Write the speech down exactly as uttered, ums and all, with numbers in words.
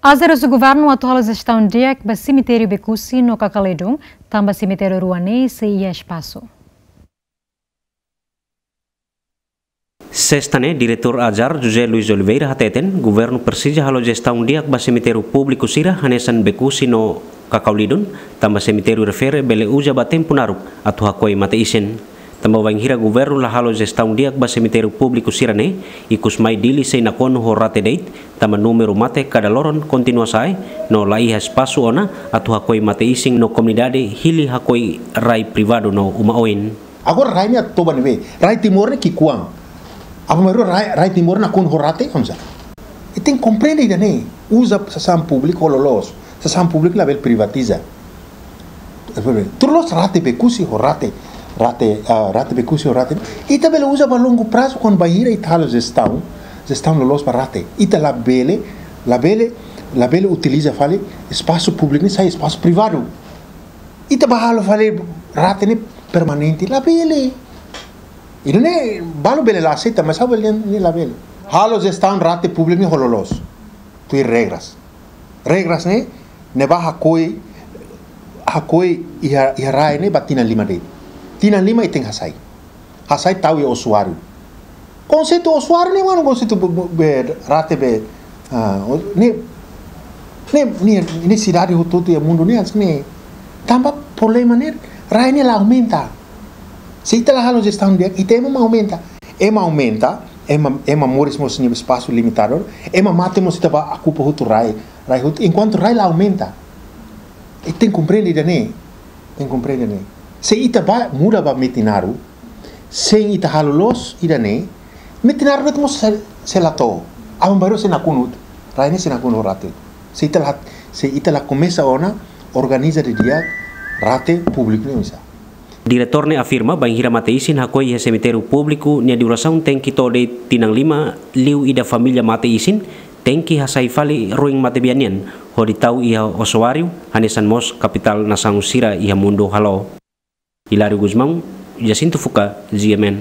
AJAR husu governu atu halo jestaun di'ak ba semitériu Becusse no Cacauledon, tanba semitériu rua ne'e sei iha espasu. Sesta ne'e, Diretór AJAR, José Luis Oliveira, hateten governu presiza halo jestaun di'ak ba semitériu públiku sira hanesan Becusse no Cacauledon, tanba semitériu refere bele uza ba tempu naruk atu hakoi mate-isin. Tanba bainhira governu la halo jestaun di'ak ba semitériu públiku sira-ne'e, ikus mai Dili sei nakonu ho rate de'it, tanba númeru mate kada loron kontinua sa'e, no la iha espasu ona atu hakoi mate-isin no komunidade hili hakoi rai privadu no uma oin. Agora rai ne'e atu toba ne'ebé? Rai Timor ne'e ki'ikoan. Aban-bainrua rai, rai Timor nakonu ho rate, oinsá? Ita tenke komprende ida-ne'e. Uza sasán públiku ho loloos. Sasán públiku labele privatiza. Tuir loloos rate Becusse ho rate, rate, ah, rate Becusse ho rate. Ita bele uza ba longu prazu kuandu bainhira ita halo jestaun, jestaun loloos ba rate. Ita labele, labele, labele utiliza fali espasu públiku ne'e sai espasu privadu. Ita bá halo fali rate ne'e permanente, labele. Ida-ne'e balu bele la aseita, mas ha'u bele dehan ne'e labele. Halo jestaun rate públiku ne'e ho loloos. Tuir regras. Regras ne'e, ne'ebá hakoi, hakoi iha, iha rai ne'e ba tinan lima de'it. Tinan lima ita tenke hasai. Hasai tau iha usuáriu. Konseitu usuáriu ne'e manu konseitu be, be, be, rate be, ah, o, ne'e, ne'e, ne'e, ne'e sidade hotu-hotu iha mundu ne'e, hanesan ne'e. Tanba problema ne'e, rai ne'e la aumenta. Se ita la halo jestaun di'ak, ita ema mak aumenta. Ema aumenta, ema, ema moris mós nia espasu limitadu, ema mate mós ita bá okupa hotu rai, rai hotu, enkuantu rai la aumenta. Ita tenke komprende ida-ne'e, tenke komprende ida-ne'e. Se ita bá muda ba Metinaro, sein ita halo loos ida-ne'e, Metinaro de'it mós sei, sei la to'o. Aban-bainrua sei nakonu, rai ne'e sei nakonu rate. Se ita la, se ita la komesa ona organiza didi'ak rate públiku ne'e oinsá. Diretór ne'e afirma, bainhira mate-isin hakoi iha semitériu públiku, nia durasaun tenke to'o de'it tinan lima, liu ida família mate-isin tenke hasai fali ruin matebian nian, hodi tau iha usuáriu, hanesan mós kapitál nasaun sira iha mundu halo. Hilário Gusmão, Jacinto Fuca, G M N.